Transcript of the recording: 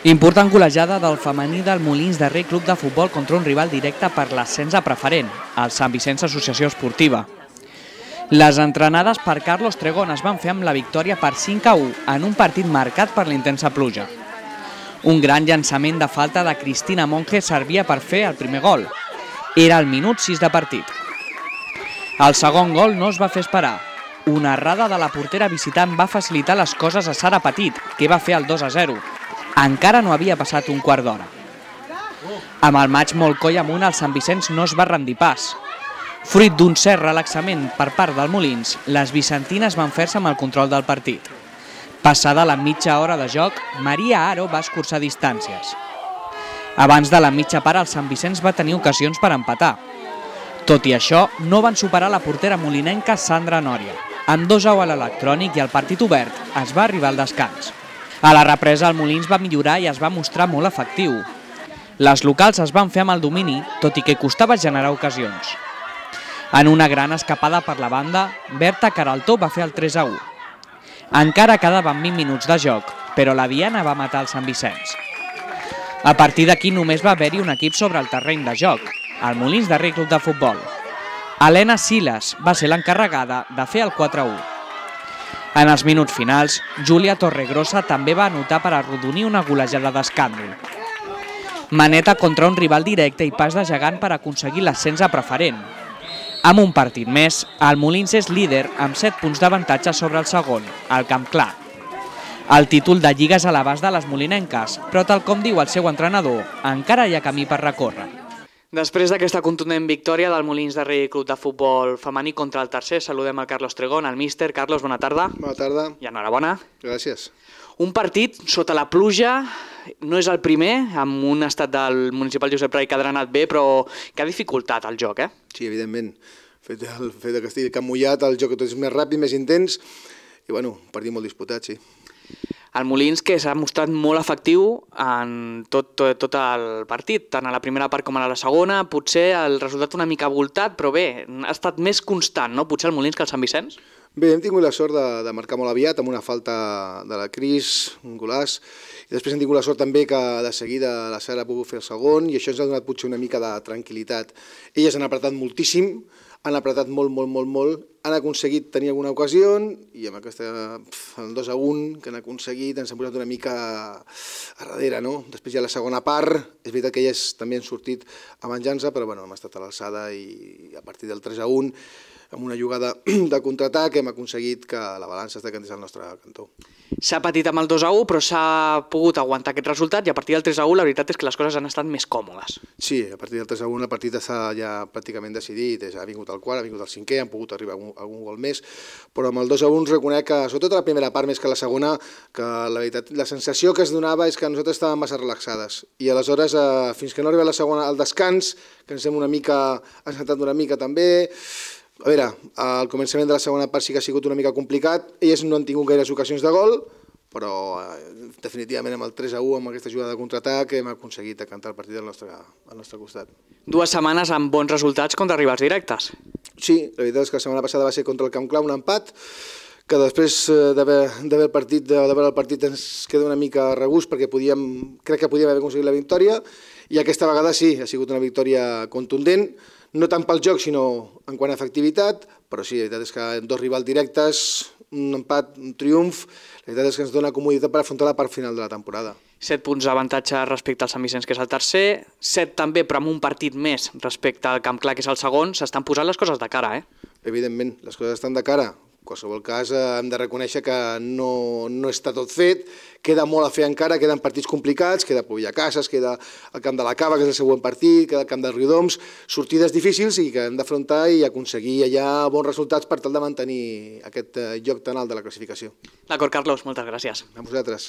Important golejada del femení del Molins de Rei Club de Futbol contra un rival directe per l'ascens a preferent, el Sant Vicenç Associació Esportiva. Les entrenades per Carlos Tregón es van fer amb la victòria per 5-1 en un partit marcat per l'intensa pluja. Un gran llançament de falta de Cristina Monge servia per fer el primer gol. Era el minut 6 de partit. El segon gol no es va fer esperar. Una errada de la portera visitant va facilitar les coses a Sara Petit, que va fer el 2-0. Encara no havia passat un quart d'hora. Amb el maig molt coll amunt, el Sant Vicenç no es va rendir pas. Fruit d'un cert relaxament per part del Molins, les vicentines van fer-se amb el control del partit. Passada la mitja hora de joc, Maria Aro va escurçar distàncies. Abans de la mitja part, el Sant Vicenç va tenir ocasions per empatar. Tot i això, no van superar la portera molinenca Sandra Nòria. Amb 2-1 a l'electrònic i el partit obert, es va arribar al descans. A la represa, el Molins va millorar i es va mostrar molt efectiu. Les locals es van fer amb el domini, tot i que costava generar ocasions. En una gran escapada per la banda, Berta Caraltó va fer el 3-1. Encara quedaven 20 minuts de joc, però la Diana va matar el Sant Vicenç. A partir d'aquí només va haver-hi un equip sobre el terreny de joc, el Molins de Rei Club de Futbol. Helena Silas va ser l'encarregada de fer el 4-1. En els minuts finals, Júlia Torregrossa també va anotar per arrodonir una golejada d'escàndol. Maneta contra un rival directe i pas de gegant per aconseguir l'ascens a preferent. Amb un partit més, el Molins és líder amb 7 punts d'avantatge sobre el segon, el Camp Clar. El títol de Lliga és a l'abast de les molinenques, però tal com diu el seu entrenador, encara hi ha camí per recórrer. Després d'aquesta contundent victòria del Molins de Rei Club de Futbol femení contra el tercer, saludem el Carlos Tregón, el míster. Carlos, bona tarda. Bona tarda. I enhorabona. Gràcies. Un partit sota la pluja, no és el primer, amb un estat del municipal Josep Pla que ha anat bé, però que ha dificultat el joc, eh? Sí, evidentment. El fet que estigui camp mullat, el joc és més ràpid, més intens, i bueno, un partit molt disputat, sí. El Molins que s'ha mostrat molt efectiu en tot el partit, tant a la primera part com a la segona, potser el resultat una mica voltat, però bé, ha estat més constant, no? Potser el Molins que el Sant Vicenç? Bé, hem tingut la sort de marcar molt aviat, amb una falta de la Cris, un golaç, i després hem tingut la sort també que de seguida la Sara ha pogut fer el segon, i això ens ha donat potser una mica de tranquil·litat. Elles han apretat moltíssim, han apretat molt, han aconseguit tenir alguna ocasió i amb aquest 2-1 que han aconseguit ens han posat una mica a darrere, no? Després ja la segona part, és veritat que elles també han sortit a venjança, però bueno, hem estat a l'alçada i a partir del 3-1, amb una jugada de contraatac, hem aconseguit que la balança es decantés al nostre cantó. S'ha patit amb el 2-1, però s'ha pogut aguantar aquest resultat i a partir del 3-1 la veritat és que les coses han estat més còmodes. Sí, a partir del 3-1 el partit està ja pràcticament decidit, ha vingut el quart, ha vingut el cinquè, han pogut arribar a algun gol més, però amb el 2-1 reconec que, sobretot a la primera part més que a la segona, que la veritat, la sensació que es donava és que nosaltres estàvem massa relaxades i aleshores, fins que no arriba la segona, al descans, que ens hem una mica assentat una mica també. A veure, al començament de la segona part sí que ha sigut una mica complicat, elles no han tingut gaires ocasions de gol, però definitivament amb el 3-1, amb aquesta jugada de contraatac, hem aconseguit decantar el partit al nostre costat. 2 setmanes amb bons resultats contra rivals directes. Sí, la veritat és que la setmana passada va ser contra el Camp Clar, un empat, que després de veure el partit ens queda una mica a regust perquè crec que podíem haver aconseguit la victòria i aquesta vegada sí, ha sigut una victòria contundent, no tant pel joc sinó en quant a efectivitat, però sí, la veritat és que 2 rivals directes, un empat, un triomf, la veritat és que ens dona comoditat per afrontar la part final de la temporada. 7 punts d'avantatge respecte al Sant Vicenç, que és el tercer, 7 també, però amb un partit més respecte al Camp Clar, que és el segon, s'estan posant les coses de cara, eh? Evidentment, les coses estan de cara. En qualsevol cas, hem de reconèixer que no està tot fet, queda molt a fer encara, queden partits complicats, queda Povillacases, queda el Camp de la Cava, que és el següent partit, queda el Camp del Riudoms, sortides difícils i que hem d'afrontar i aconseguir allà bons resultats per tal de mantenir aquest lloc tan alt de la classificació. D'acord, Carlos, moltes gràcies. A vosaltres.